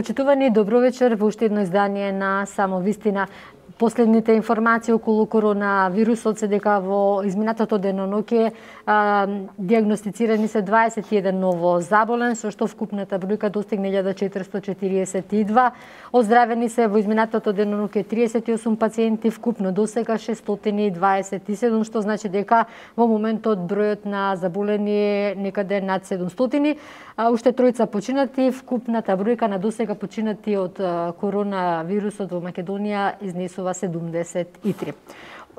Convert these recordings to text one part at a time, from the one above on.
Почитувани, добро вечер во уште едно издание на Само вистина. Последните информации околу коронавирусот се дека во изминатото деноноќе диагностицирани се 21 ново заболен, со што вкупната бројка достигна 1442. Оздравени се во изминатото деноноќе 38 пациенти, вкупно досега 627, што значи дека во моментот бројот на заболени е некаде над 700. Уште тројца починати, вкупната бројка на досега починати од коронавирусот во Македонија изнесува 73.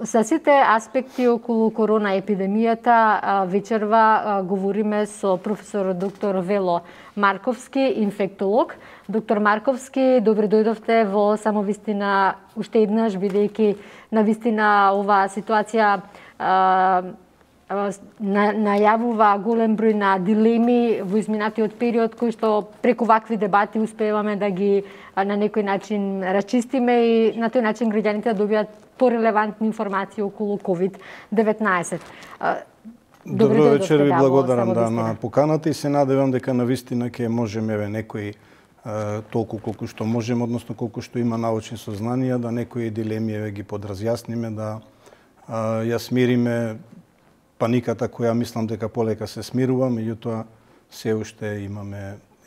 За сите аспекти околу корона епидемијата вечерва говориме со професор доктор Вело Марковски, инфектолог. Доктор Марковски, добре дојдовте во Само вистина уште еднаш, бидејќи навистина оваа ситуација најавува голем број на дилеми во изминатиот период, кои што преку вакви дебати успеваме да ги на некој начин расчистиме и на тој начин граѓаните да добијат порелевантни информации околу COVID-19. Добро вечер, ви благодарам на поканата и се надевам дека навистина ќе можеме некои толку колку што можеме, односно колку што има научни сознанија, да некои дилеми ги подразјасниме, да ја смириме паниката која мислам дека полека се смирува, меѓутоа се уште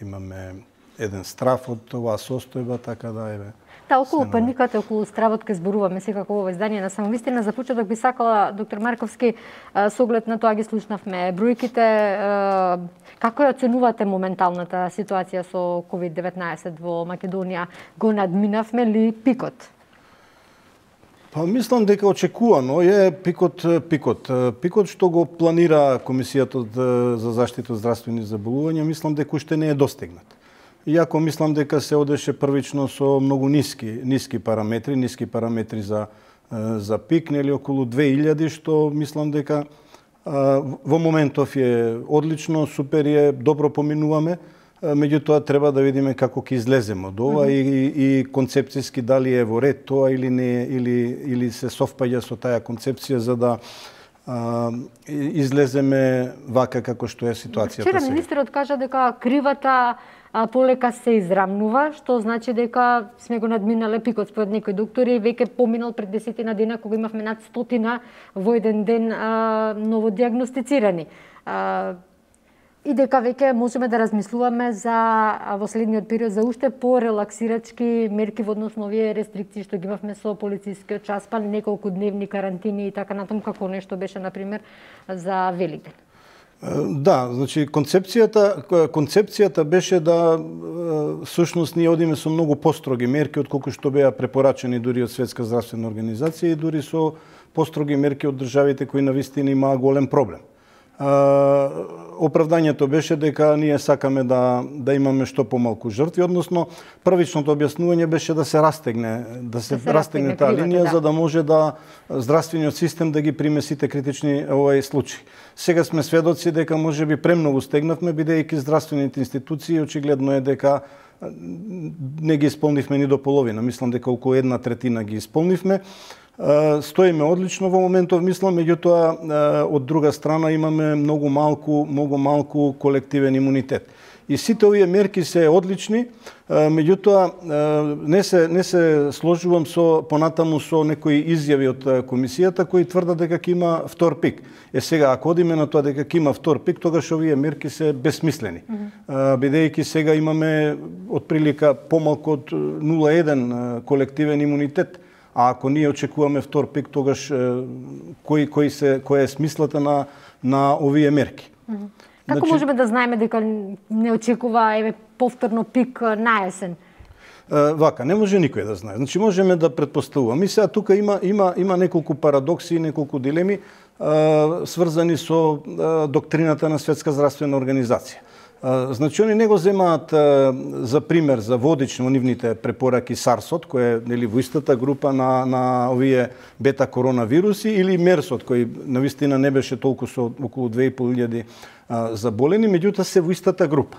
имаме еден страф од оваа состојба, така да еве. Да, околу паниката, околу стравот ке зборуваме секако во издание на Само вистина. За почеток би сакала, доктор Марковски, со оглед на тоа ги слушнавме бројките, како ја оценувате моменталната ситуација со COVID-19 во Македонија? Го надминавме ли пикот? Па мислам дека очекувано е пикот. Пикот што го планира Комисијата за заштита од здравствени заболувања, мислам дека уште не е достигнат. Иако мислам дека се одеше првично со многу ниски параметри за пик, нели околу 2000, што мислам дека во моментов е одлично, супер е, добро поминуваме. Меѓутоа треба да видиме како ќе излеземе од ова и концепцијски дали е во ред тоа или не, или се совпаѓа со таа концепција за да излеземе вака како што е ситуацијата сега. Вчера министерот кажа дека кривата полека се израмнува, што значи дека сме го надминале пикот. Според некои доктори веќе поминал пред 10 дена кога имавме над 100 во еден ден новодиагностицирани. И дека веќе можеме да размислуваме за во следниот период за уште порелаксирачки мерки во однос на овие рестрикции што ги имавме со полицискиот час, па неколку дневни карантини и така натаму, како нешто беше на пример за Великден. Да, значи концепцијата беше да всушност ние одиме со многу построги мерки отколку што беа препорачени дури од Светска здравствена организација и дури со построги мерки од државите кои навистина имаа голем проблем. Оправдањето беше дека ние сакаме да имаме што помалку жртви, односно првичното објаснување беше да се растегне таа линија, за да може да здравствениот систем да ги приме сите критични случаи. Сега сме сведоци дека можеби премногу стегнавме, бидејќи здравствените институции очигледно е дека не ги исполнивме ни до половина. Мислам дека околу 1/3 ги исполнивме. Стоиме одлично во моментов, мислам, меѓутоа од друга страна имаме многу малку колективен имунитет. И сите овие мерки се одлични, меѓутоа не се сложувам понатаму со некои изјави од комисијата кои тврдат дека ќе има втор пик. Сега ако одиме на тоа дека ќе има втор пик, тогаш овие мерки се бесмислени. Бидејќи сега имаме отприлика помалку од 0,1 колективен имунитет. А ако ние очекуваме втор пик, тогаш која е смислата на овие мерки? Како можеме да знаеме дека не очекува повторно пик на есен? Вака, не може никој да знае. Значи можеме да претпоставуваме. И сега тука има неколку парадокси, неколку дилеми сврзани со доктрината на Светска здравствена организација. Значи, они не го земаат за пример, за водично нивните препораки SARS-от, кој е во истата група на овие бета коронавируси, или MERS-от, кој навистина не беше толку со околу 2500 заболени, меѓутоа се во истата група.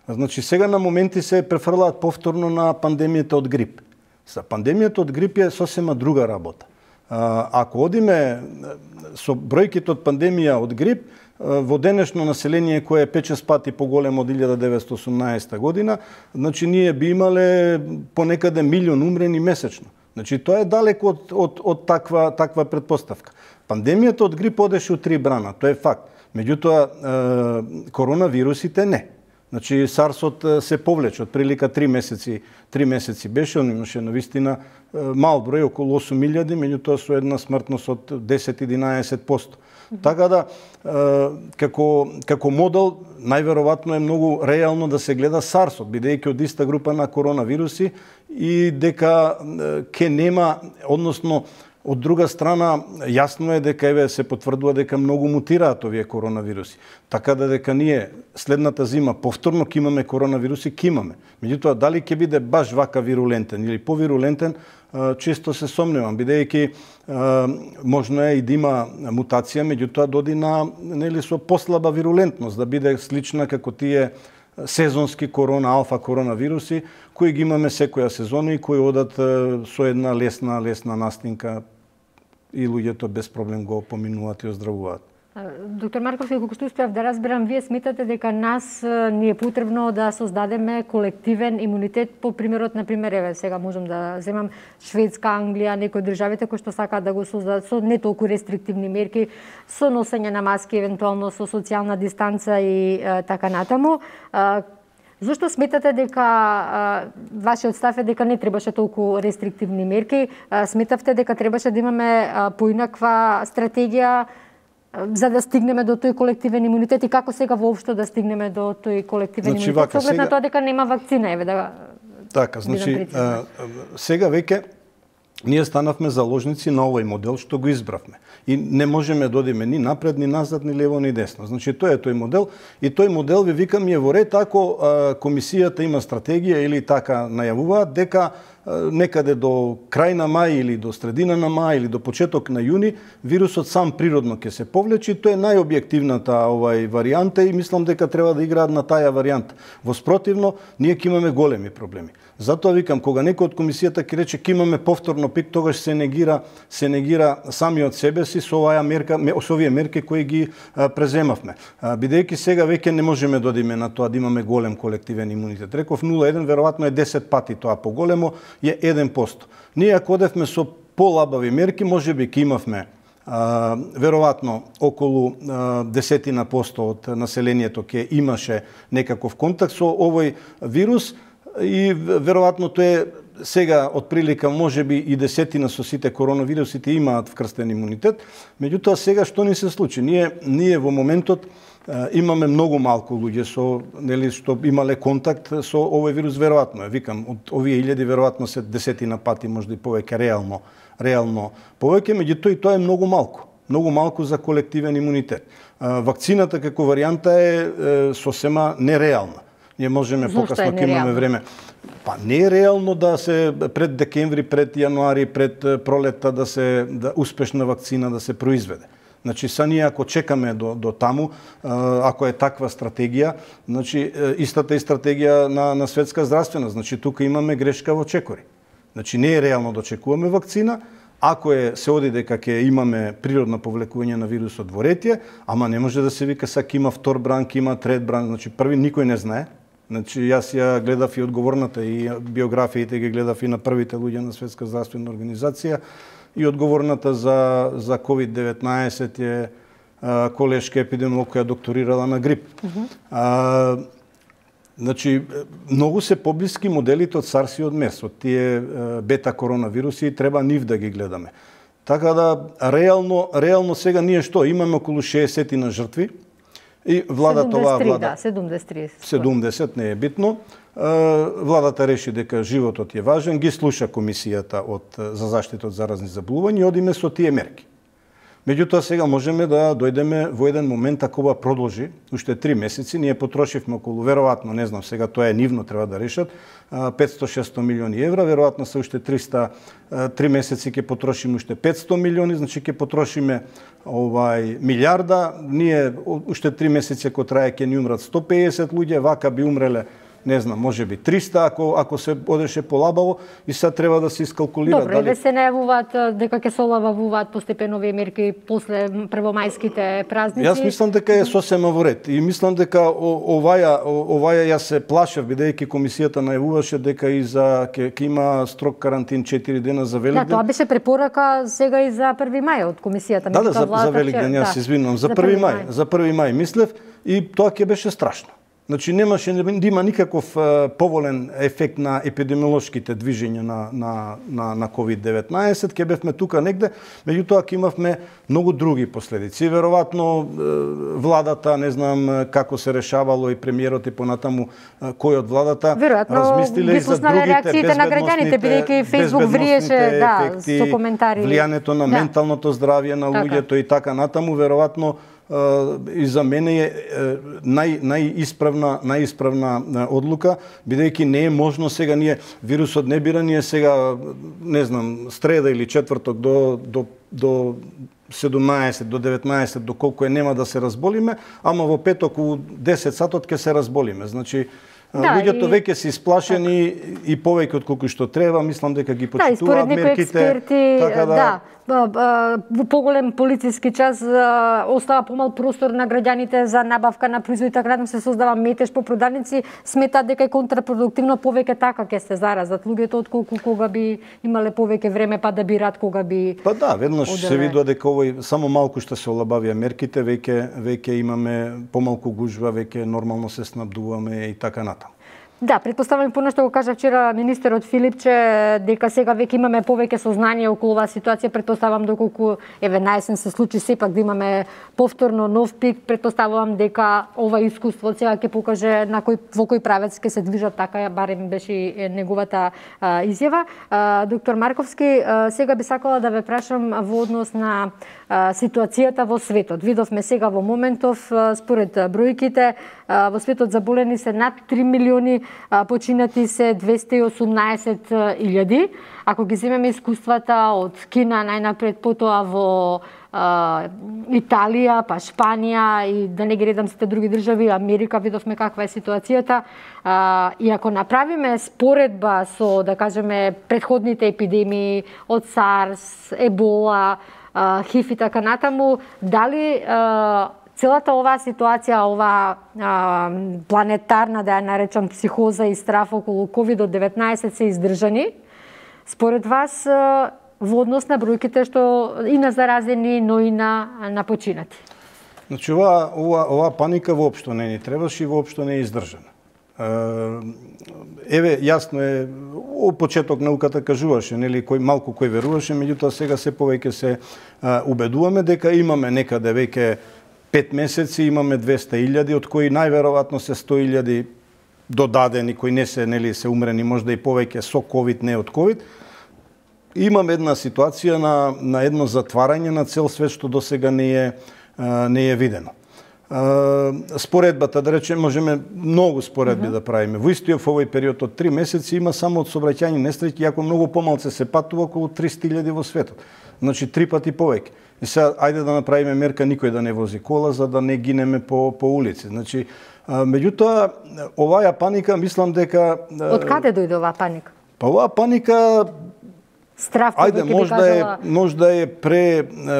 Значи, сега на моменти се префрлаат повторно на пандемијата од грип. За пандемијата од грип е сосема друга работа. Ако одиме со бројките од пандемија од грип, во денешно население кое е 5-6 пати поголемо од 1918 година, значи ние би имале понекаде милион умрени месечно. Значи тоа е далеко од таква предпоставка. Пандемијата од грип одеше у 3 брана, тоа е факт. Меѓутоа коронавирусите не. Значи SARS-от се повлече од прилика 3 месеци беше, он имаше навистина мал број, околу 8.000, меѓутоа со една смртност од 10-11%. Така да, како модел, најверојатно е многу реално да се гледа SARS-от, бидејќи од иста група на коронавируси и дека ке нема, односно, од друга страна, јасно е дека се потврдува дека многу мутираат овие коронавируси. Така да дека ние следната зима повторно ќе имаме коронавируси, ќе имаме. Меѓутоа, дали ќе биде баш вака вирулентен или повирулентен, често се сомневам, бидејќи можно е и да има мутација, меѓутоа доди на со послаба вирулентност, да биде слична како тие сезонски алфа коронавируси, кои ги имаме секоја сезона и кои одат со една лесна настинка и луѓето без проблем го поминуваат и оздравуваат. Доктор Марков, како што успеав да разберам, вие сметате дека нас ни е потребно да создадеме колективен имунитет по примерот, например, еве сега можам да земам Шведска, Англија, некои државите кои што сакаат да го создадат со не толку рестриктивни мерки, со носење на маски, евентуално со социјална дистанца и така натаму. Зошто сметате дека вашиот став е дека не требаше толку рестриктивни мерки? Сметавте дека требаше да имаме поинаква стратегија за да стигнеме до тој колективен имунитет и како сега воопшто да стигнеме до тој колективен имунитет? Со оглед на тоа дека нема вакцина, еве да. Така, значи сега веќе ние станавме заложници на овој модел што го избравме. И не можеме да одиме ни напред, ни назад, ни лево, ни десно. Значи, тој е тој модел. И тој модел, ви викам, е во ред ако комисијата има стратегија или така најавуваат, дека некаде до крај на мај или до средина на мај или до почеток на јуни, вирусот сам природно ќе се повлече. Тоа е најобјективната варијанта и мислам дека треба да играат на таја варијанта. Во спротивно, ние ќе имаме големи проблеми. Затоа викам, кога некој од комисијата ќе рече ќе имаме повторно пик, тогаш се негира самиот себе си со овие мерки кои ги преземавме. Бидејќи сега веќе не можеме да одиме на тоа да имаме голем колективен имунитет. Реков 0,1, веројатно е 10 пати тоа поголемо, е 1%. Ние ако одевме со полабави мерки, можеби ќе имавме веројатно околу 10% од населението ќе имаше некаков контакт со овој вирус и веројатно тоа е сега отприлика можеби и 10% со сите коронавирусите имаат вкрстен имунитет. Меѓутоа сега што ни се случи? Ние во моментот имаме многу малку луѓе што имале контакт со овој вирус, веројатно е. Викам, од овие 1000 веројатно се 10 пати, можда и повеќе, реално повеќе, меѓутоа и тоа е многу малку. Многу малку за колективен имунитет. Вакцината како варијанта е сосема нереална. Ние можеме покасно ќе имаме време. Па не е реално да се пред декември, пред јануари, пред пролетта да успешна вакцина да се произведе. Значи, са ние ако чекаме до таму, ако е таква стратегија, значи, истата е стратегија на Светска здравствена. Значи, тука имаме грешка во чекори. Значи, не е реално да очекуваме вакцина, ако се оди дека ќе имаме природно повлекување на вирусот во ретје, ама не може да се вика сак има втор бран, има трет бран, значи први никој не знае. Значи, јас ја гледав и одговорната и биографиите ги гледав и на првите луѓе на Светска здравствена организација и одговорната за COVID-19 е колешка епидемиолог која докторирала на грип. Значи, многу се поблиски моделите од SARS и од MERS, од тие бета коронавируси и треба нив да ги гледаме. Така да, реално сега ние што? Имаме околу 60 на жртви и владата 70 не е битно. Владата реши дека животот е важен, ги слуша комисијата за заштита од заразни заболувања и одиме со тие мерки. Меѓутоа сега можеме да дојдеме во еден момент ако ова продолжи уште 3 месеци, ние потрошивме околу веројатно, не знам, сега тоа е нивно треба да решат, 500-600 милиони евра, веројатно се уште 3 месеци ќе потрошиме уште 500 милиони, значи ќе потрошиме милиарда, ние уште 3 месеци ако трае ќе ни умрат 150 луѓе, вака би умреле не знам, можеби 300 ако се одеше полабаво и сега треба да се искалкулира. Добро, дали се најавуваат дека ќе се олабавуваат постепено овие мерки после првомајските празници. Јас мислам дека е сосема во ред и мислам дека оваја јас се плашев бидејќи комисијата најавуваше дека и за ќе има строг карантин 4 дена за Великден. Да, тоа беше препорака сега и за 1 мај од комисијата. Да, за Великден, јас се извинувам, за 1 мај, за 1 мај мислев и тоа ќе беше страшно. Значи немаше да има никаков поволен ефект на епидемиолошките движења на COVID-19, ќе бевме тука негде, меѓутоа ќе имавме многу други последици. Веројатно владата, не знам како се решавало и премиерот и понатаму кој од владата размислиле и за другите на граѓаните, бидејќи Facebook вриеше со коментари, влијанието на менталното здравје на луѓето и така натаму, веројатно и за мене е најисправна одлука, бидејќи не е можно сега вирусот не бира, ние сега, не знам, среда или четврток до 17, до 19, до колку нема да се разболиме, ама во петок у 10 сатот ќе се разболиме. Значи, луѓето веќе се исплашени и повеќе од колку што треба, мислам дека ги почитуваат мерките, така да во поголем полициски час остава помал простор на граѓаните за набавка на производи, така натаму се создава метеж по продавници, сметаат дека е контрапродуктивно повеќе така ќе се заразат луѓето отколку кога би имале повеќе време па да бират кога би. Па да, веднаш се видува дека овој само малку што се олабавија мерките, веќе имаме помалку гужва, веќе нормално се снабдуваме и така натаму. Да, претпоставувам по што го кажа вчера министерот Филипче, дека сега веќе имаме повеќе сознание околу оваа ситуација, претпоставувам доколку на есен се случи сепак да имаме повторно нов пик, претпоставувам дека ова искуство сега ќе покаже во кој правец ќе се движат, така барем беше неговата изјава. Доктор Марковски, сега би сакала да ве прашам во однос на ситуацијата во светот. Видовме сега во моментов, според бројките, во светот заболени се над 3 милиони, починати се 218.000. Ако ги земеме искуствата од Кина најнапред, потоа во Италија, па Шпанија и да не ги редам сите други држави, Америка, видовме каква е ситуацијата. И ако направиме споредба со, да кажеме, предходните епидемии од SARS, Ебола, ХИВ и така натаму, дали целата оваа ситуација, оваа планетарна, да ја наречам, психоза и страф околу COVID-19 се издржани, според вас, во однос на бројките што и на заразени, но и на починати? Значи, оваа паника воопшто не ни требаше и воопшто не е издржана. Еве, јасно е, од почеток науката кажуваше, нели, кој веруваше, меѓутоа сега се повеќе се убедуваме дека имаме некаде веќе 5 месеци, имаме 200.000, од кои најверојатно се 100.000 додадени, кои не се, нели, се умрени, можда и повеќе со ковид, не од ковид. Имаме една ситуација на едно затварање на цел свет што досега не е видено. Споредбата, да речем, можеме многу споредби да правиме. Во истиот овој период од 3 месеци има само од сообраќајни несреќи, иако многу помалце се патува, околу 300.000 во светот. Значи 3 пати повеќе. И сега, ајде да направиме мерка никој да не вози кола, за да не гинеме по улици. Значи, меѓутоа, оваа паника, мислам дека... Од каде дојде оваа паника? Па оваа паника... Страф, можда е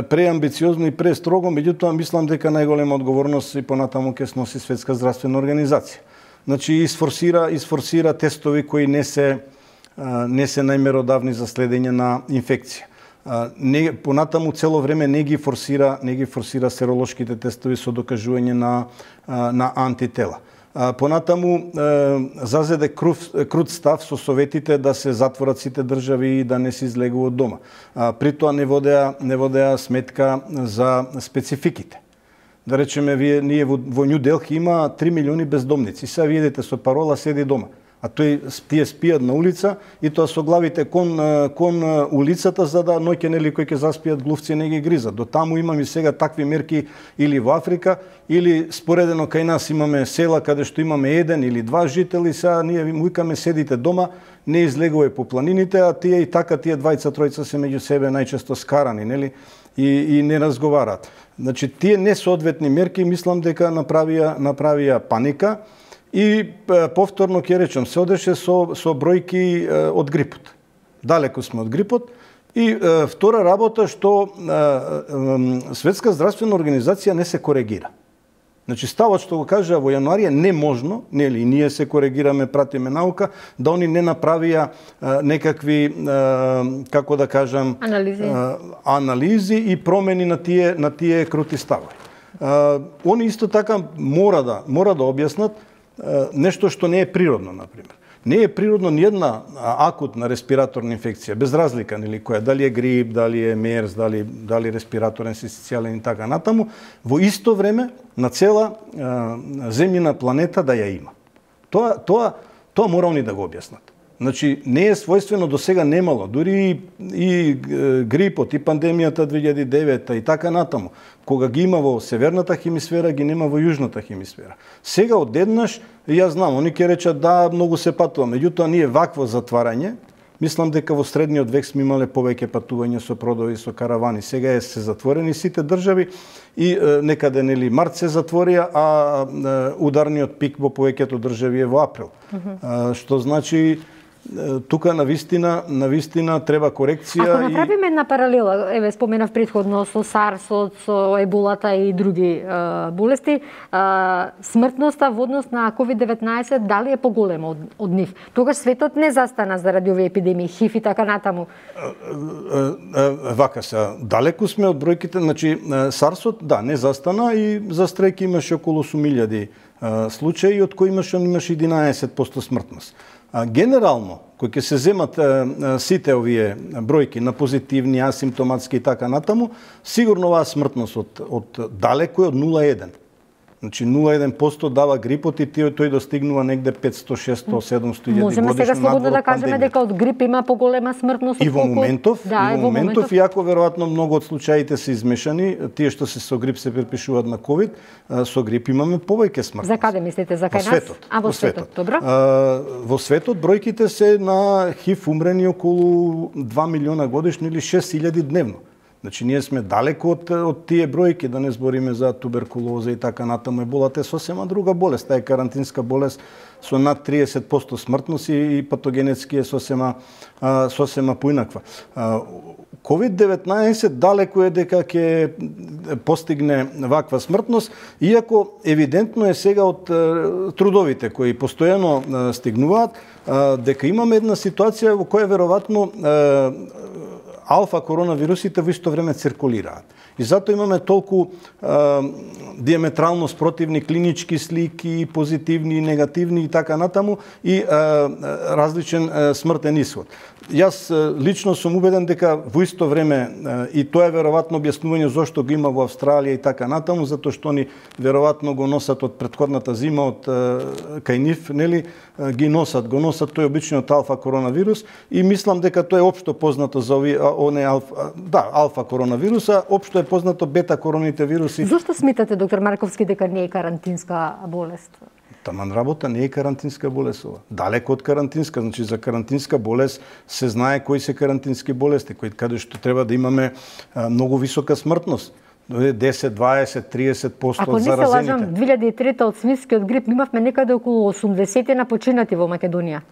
преамбициозно и престрого, меѓутоа мислам дека најголема одговорност и понатаму ќе сноси Светска здравствена организација. Значи изфорсира тестови кои не се најмеродавни за следење на инфекција. Понатаму цело време не ги форсира серолошките тестови со докажување на антитела. Понатаму зазеде крут став со советите да се затворат сите држави и да не се излегуваат дома. При тоа не водеа сметка за спецификите. Да речеме, ние во Нью Делхи има 3 милиони бездомници. Сега видите со парола седи дома. А тие спијат на улица и тоа со главите кон улицата, за да ноќе нели кои ќе заспијат глувци не ги гризат. До таму имаме сега такви мерки или во Африка, или споредено кај нас имаме села каде што имаме 1 или 2 жители, сега ние ви викаме седите дома, не излегувај по планините, а тие и така тие двајца-тројца се меѓу себе најчесто скарани, нели? И не разговараат. Значи тие несоодветни мерки мислам дека направија паника. и повторно ќе речам, се одеше со бројки од грипот. Далеку сме од грипот. И втора работа што Светска здравствена организација не се коригира. Значи ставот што го кажа во јануари е неможно, нели, ние се коригираме, пратиме наука, да они не направија некакви, како да кажам, анализи и промени на тие крути ставови. Они исто така мора да објаснат нешто што не е природно, например. Не е природно ниједна акутна респираторна инфекција, без разлика, нели, која, дали е грип, дали е мерс, дали респираторен синцитијален и така натаму, во исто време на цела земјина планета да ја има. Тоа мора они да го објаснат. Значи, не е својствено, до сега немало, дури и грипот, и пандемијата 2009 и така натаму. Кога ги има во северната хемисфера, ги нема во јужната хемисфера. Сега одеднаш, јас знам, они ќе речат да, многу се патува, меѓутоа ние вакво затварање, мислам дека во средниот век сме имале повеќе патување со продови, со каравани. Сега се затворени сите држави и некаде, нели, март се затворија, а ударниот пик во повеќето држави е во април. Што значи тука навистина треба корекција. Ако направиме една паралела, еве споменав претходно со SARS-от, со еболата и други болести, смртноста во однос на COVID-19 дали е поголема од нив? Тогаш светот не застана заради овие епидемии, ХИВ и така натаму. Вака се, далеку сме од бројките, значи SARS-от да, не застана и за стрејки имаше околу 8.000 случаи, од кои имаше 11% смртност. Генерално, кои ќе се земат сите овие бројки на позитивни, асимптоматски и така натаму, сигурно оваа смртност од далеко е од 0,1. Значи 0,1% дава грипот и тој достигнува негде 500, 600, 700 годишно. Можеме сега слободно да кажеме дека од грип има поголема смртност од колку? И во моментов, иако веројатно многу од случаите се измешани, тие што се со грип се припишуваат на ковид, со грип имаме повеќе смртност. За каде мислите, за кај нас? Во светот, добро. Во светот бројките се на ХИВ умрени околу 2 милиона годишно или 6.000 дневно. Значи, ние сме далеко од тие бројки, да не збориме за туберкулоза и така натаму. Еболата е сосема друга болест, таа е карантинска болест со над 30% смртност и патогенетски е сосема поинаква. COVID-19 далеко е дека ќе постигне ваква смртност, иако евидентно е сега од трудовите кои постојано стигнуваат, дека имаме една ситуација во која веројатно алфа коронавирусите во исто време циркулираат. И затоа имаме толку диаметрално спротивни клинички слики, позитивни и негативни и така натаму, и различен смртен исход. Јас лично сум убеден дека во исто време, и тоа е веројатно објаснување зошто го има во Австралија и така натаму, затоа што они веројатно го носат од претходната зима од кај нив, нели, го носат тој обичниот алфа коронавирус, и мислам дека тоа е општо познато за алфа коронавируса, општо е познато бета короните вируси. Зошто смитате, доктор Марковски, дека не е карантинска болест? Таман работа не е карантинска болест ова. Далеко од карантинска, значи за карантинска болест се знае кои се карантински болести, каде што треба да имаме многу висока смртност. 10, 20, 30% Ако не се лажам, 2003 од свинскиот грип имавме некаде околу 80 на починати во Македонија.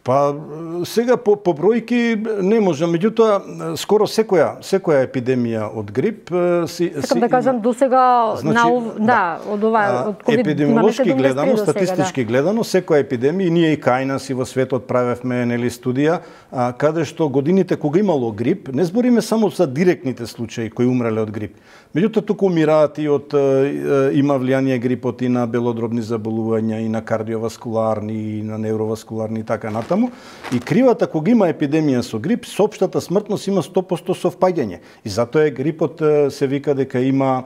Па сега по бројки не можам, меѓутоа скоро секоја епидемија од грип Сакам да кажам до сега од ова од ковид епидемиолошки гледано, статистички гледано, секоја епидемија, ние и кај нас и во светот правевме, нели, студија, каде што годините кога имало грип, не збориме само за директните случаи кои умреле од грип. Меѓутоа туку умираат и од има влијание грипот и на белодробни заболувања, и на кардиоваскуларни, и на невроваскуларни и така натаму. И кривата кога има епидемија со грип, соопштата смртност има 100% совпаѓање. И затоа грипот се вика дека има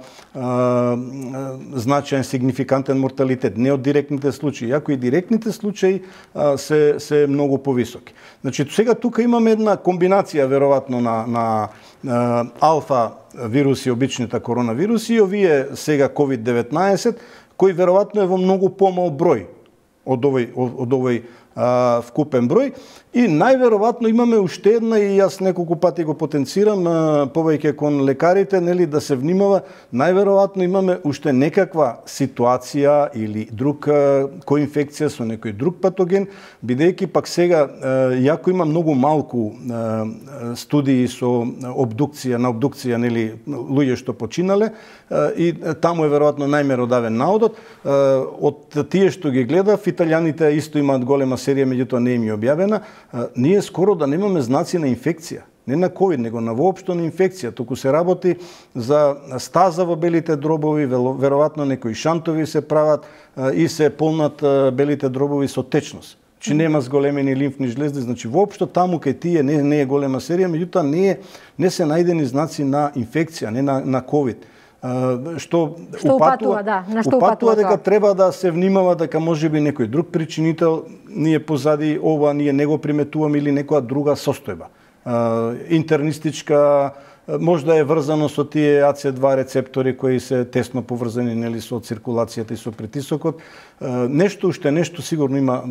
значаен сигнификантен морталитет, не од директните случаи, иако и директните случаи се многу повисоки. Значи сега тука имаме една комбинација веројатно на алфа вируси, обичните коронавируси, и овие сега COVID-19, кој веројатно е во многу помал број од овој вкупен број. И најверојатно имаме уште една, и јас неколку пати го потенцирам, повеќе кон лекарите, нели, да се внимава, најверојатно имаме уште некаква ситуација или друг коинфекција со некој друг патоген, бидејќи пак сега, јако има многу малку студии со на обдукција, нели, луѓе што починале, и таму е веројатно најмеродавен наодот. Од тие што ги гледав, италијаните исто имаат голема серија, меѓутоа не им е објавена. Ние скоро да немаме знаци на инфекција. Не на ковид, него на воопшто на инфекција. Туку се работи за стаза во белите дробови, веројатно некои шантови се прават и се полнат белите дробови со течност. Че нема зголемени лимфни жлезди, значи воопшто таму кај тие не е голема серија, меѓутоа не се најдени знаци на инфекција, не на ковид. Што упатува дека треба да се внимава дека можеби некој друг причинител, ние позади ова ние не го приметуваме, или некоја друга состојба. Интернистичка, можда е врзано со тие AC2 рецептори кои се тесно поврзани, нели, со циркулацијата и со притисокот. Нешто сигурно има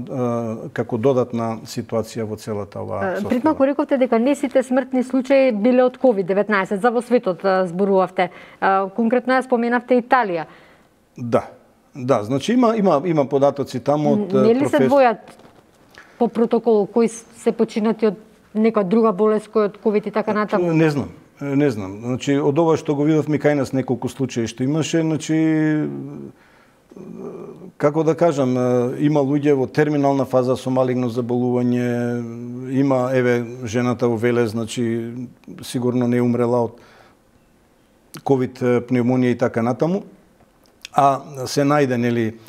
како додатна ситуација во целата оваа состојба. Пред малку рековте дека не сите смртни случаи биле од COVID-19, за во светот зборувавте. Конкретно ја споменавте Италија. Да, значи има податоци таму од Нели се двојат по протокол кои се починати од некоја друга болест кој од COVID и така натаму? Не знам. Значи, од ова што го видовме кај нас неколку случаи што имаше, значи, како да кажам, има луѓе во терминална фаза со малигно заболување, има, жената во Велес, значи, сигурно не умрела од ковид пневмонија и така натаму, а се најде, нели,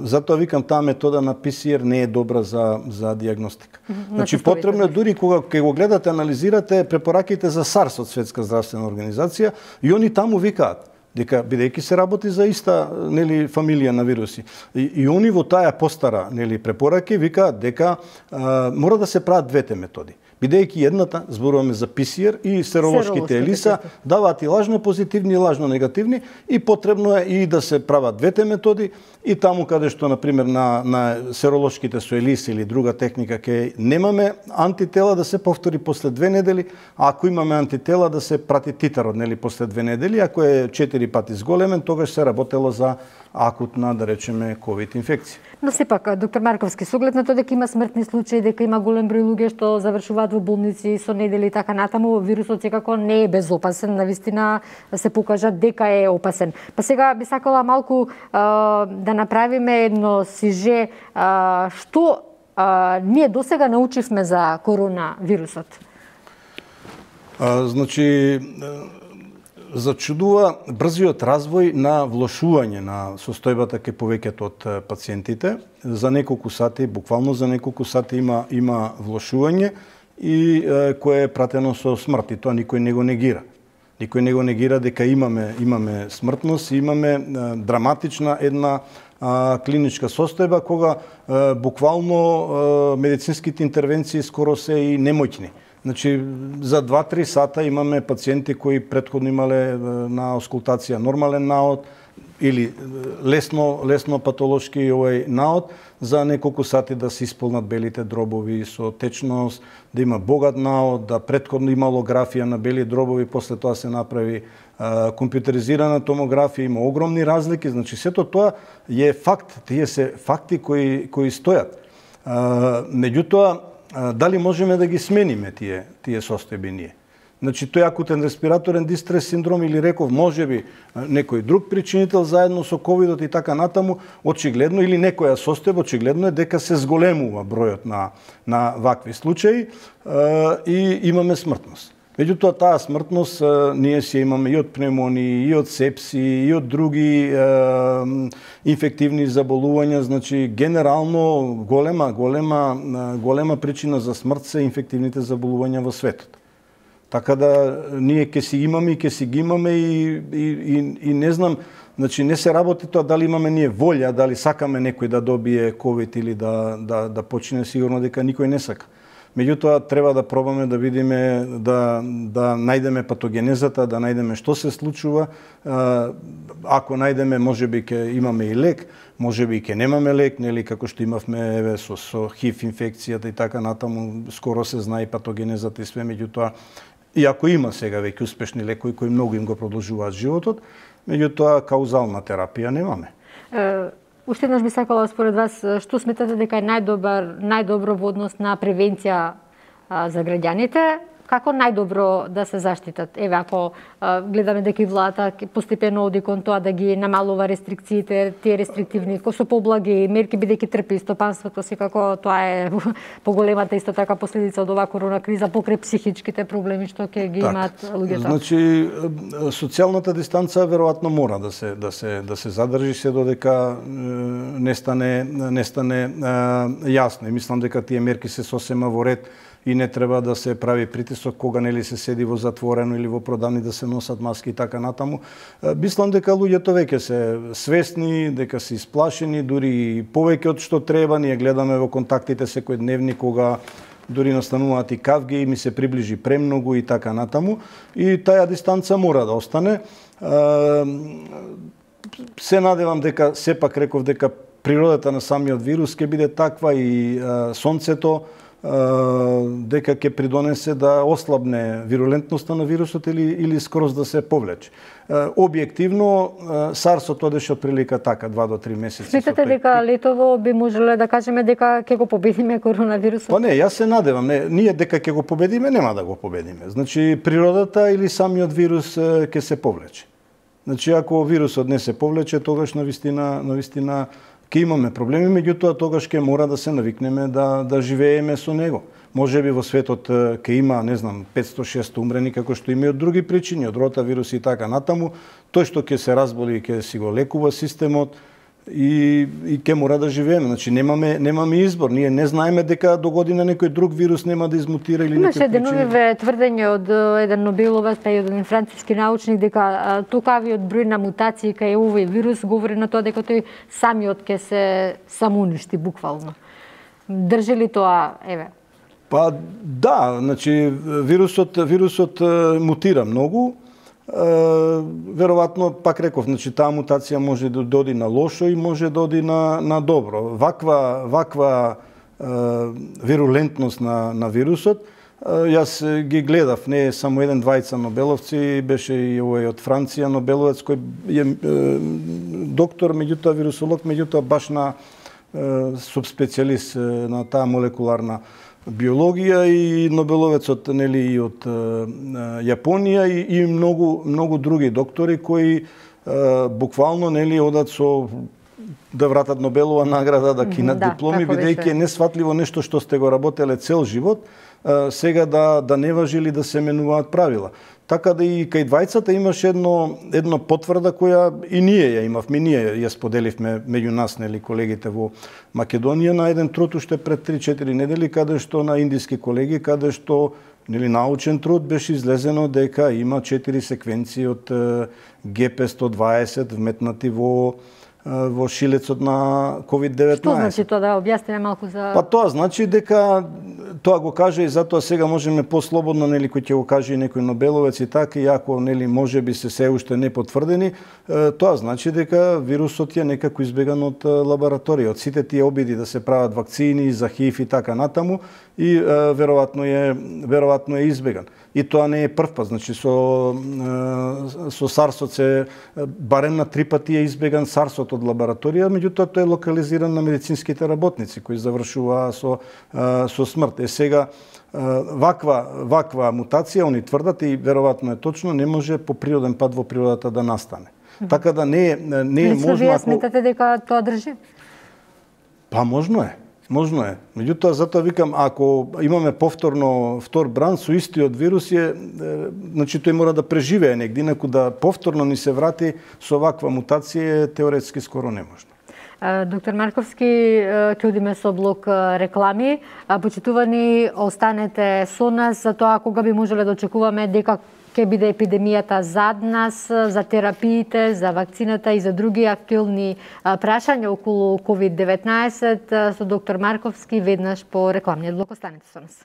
затоа викам, таа метода на ПСР не е добра за диагностика. Значи, потребно е, дури кога ќе го гледате, анализирате препораките за САРС од Светска здравствена организација, и они таму викаат дека, бидејќи се работи за иста, нели, фамилија на вируси, и они во таа постара, нели, препораки викаат дека мора да се прават двете методи. Бидејќи едната, зборуваме за ПСР, и серолошките елиса даваат и лажно позитивни и лажно негативни, и потребно е и да се прават двете методи, и таму каде што, например, на серолошките со елиса или друга техника ке немаме антитела, да се повтори после 2 недели, а ако имаме антитела, да се прати титарот, нели, после 2 недели, ако е 4 пати зголемен, тогаш се работело за акутна, да речеме, ковид инфекција. Но сепак, доктор Марковски, со оглед на тоа дека има смртни случаи, дека има голем број луѓе што завршуваат во болници со недели и така натаму, вирусот секако не е безопасен, навистина се покажа дека е опасен. Па сега би сакала малку да направиме едно сиже, што ние досега научивме за коронавирусот? Значи, зачудува брзиот развој на влошување на состојбата кај повеќето од пациентите. За неколку сати, буквално за неколку сати има влошување, и кое е пратено со смрт, и тоа никој не го негира. Никој не го негира дека имаме смртност, и имаме драматична една клиничка состојба кога буквално медицинските интервенции скоро се и немоќни. Значи, за 2-3 сата имаме пациенти кои претходно имале на аускултација нормален наод или лесно патолошки наод, за неколку сати да се исполнат белите дробови со течност, да има богат наод, да претходно имало графија на бели дробови, после тоа се направи компјутеризирана томографија, има огромни разлики, значи сето тоа е факт, тие се факти кои стојат. Меѓутоа, дали можеме да ги смениме тие состојби ние? Значи, тој акутен респираторен дистрес синдром, или реков, можеби некој друг причинител заедно со ковидот и така натаму, очигледно, или некоја состојба, очигледно е дека се зголемува бројот на вакви случаи и имаме смртност. Меѓутоа, таа смртност ние си имаме и од пневмонии, и од сепси, и од други инфективни заболувања, значи генерално голема причина за смрт се инфективните заболувања во светот. Така да ние ќе си имаме и ќе си ги имаме, и не знам, значи не се работи тоа дали имаме ние волја, дали сакаме некој да добие ковид или да почине, сигурно дека никој не сака. Меѓутоа треба да пробаме да видиме, да најдеме патогенезата, да најдеме што се случува. Ако најдеме, можеби ќе имаме и лек, можеби ќе немаме лек, нели, како што имавме со ХИВ инфекцијата и така натаму, скоро се знае патогенезата и све, меѓутоа иако има сега веќе успешни лекови кои многу им го продолжуваат животот, меѓутоа каузална терапија немаме. Уште еднаш би сакала според вас што сметате дека е најдобро во однос на превенција за граѓаните, како најдобро да се заштитат? Еве, ако гледаме дека и владата постепено оди кон тоа да ги намалува рестрикциите, тие рестриктивни, со поблаги мерки, бидејќи трпи стопанството, секако тоа е поголемата исто така последица од оваа корона криза покрај психичките проблеми што ќе ги имаат луѓето. Значи, социјалната дистанца веројатно мора да се задржи се додека не стане јасно. И мислам дека тие мерки се сосема во ред и не треба да се прави притисок кога нели се седи во затворено или во продавни да се носат маски и така натаму. Мислам дека луѓето веќе се свесни, дека се исплашени, дури повеќе од што треба. Ние гледаме во контактите секојдневни кога дури настануваат и кавги и ми се приближи премногу и така натаму. И таа дистанца мора да остане. Се надевам дека, сепак реков дека природата на самиот вирус ќе биде таква и сонцето, дека ќе придонесе да ослабне вирулентноста на вирусот или скроз да се повлече. Објективно, SARS-от одеше од прилика така, 2 до 3 месеци. Сметате дека летово би можеле да кажеме дека ќе го победиме коронавирусот? Па не, јас се надевам. Ние дека ќе го победиме, нема да го победиме. Значи, природата или самиот вирус ќе се повлече. Значи, ако вирусот не се повлече, тогаш навистина ќе имаме проблеми, меѓутоа тогаш ќе мора да се навикнеме да живееме со него. Можеби во светот ќе има, не знам, 500-600 умрени, како што има и од други причини, од ротавирус и така натаму. Тој што ќе се разболи, ќе си го лекува системот и ќе мора да живееме. Значи немаме избор. Ние не знаеме дека до година некој друг вирус нема да измутира или некој причини. Имаше деновиве тврдење од еден Нобеловец, па и од еден француски научник дека токавиот број на мутации кај овој вирус говори на тоа дека тој самиот ќе се самоуништи буквално. Држи ли тоа, еве? Па да, значи вирусот мутира многу. Веројатно, пак реков, значи таа мутација може да доди на лошо и може да оди на добро. Ваква вирулентност на вирусот, јас ги гледав, не само еден-двајца Нобеловци, беше и овој од Франција Нобеловец кој е доктор, меѓутоа вирусолог, меѓутоа баш на субспецијалист на таа молекуларна биологија и Нобеловецот нели и од Јапонија и многу други доктори кои буквално нели одат со да вратат Нобелова награда, да кинат дипломи, бидејќи е несватливо нешто што сте го работеле цел живот, сега да не важи или да се менуваат правила. Така да и кај двајцата имаше едно потврда која и ние ја имавме, ние ја споделивме меѓу нас, нели, колегите во Македонија на еден труд уште пред 3-4 недели, каде што на индиски колеги, каде што нели научен труд беше излезено дека има 4 секвенции од ГП120 вметнати во шилецот на COVID-19. Што значи тоа, да објасниме малку за... Па тоа значи дека тоа го каже и затоа сега можеме послободно, нели, кој ќе го каже и некој Нобеловец и така, и ако нели можеби се уште не потврдени, тоа значи дека вирусот е некако избеган од лабораторија. Од сите тие обиди да се прават вакцини за ХИВ и така натаму, и веројатно е избеган. И тоа не е прв пат, значи со SARS-от се барем на 3 пати е избеган SARS-от од лабораторија, меѓутоа тој е локализиран на медицинските работници кои завршуваа со смрт. Сега ваква мутација, они тврдат и веројатно е точно, не може по природен пат во природата да настане. Така да не е можно. Вие сметате дека тоа држи? Па можно е. Можно е. Меѓутоа, затоа викам, ако имаме повторно втор бран со истиот вирус, значи тој мора да преживее негде, инаку да повторно ни се врати со ваква мутација теоретски скоро неможно. Доктор Марковски, ќе одиме со блок реклами. Почитувани, останете со нас за тоа кога би можеле да очекуваме дека ќе биде епидемијата зад нас, за терапиите, за вакцината и за други актуелни прашања околу COVID-19 со доктор Марковски веднаш по рекламниот блок. Останете со нас.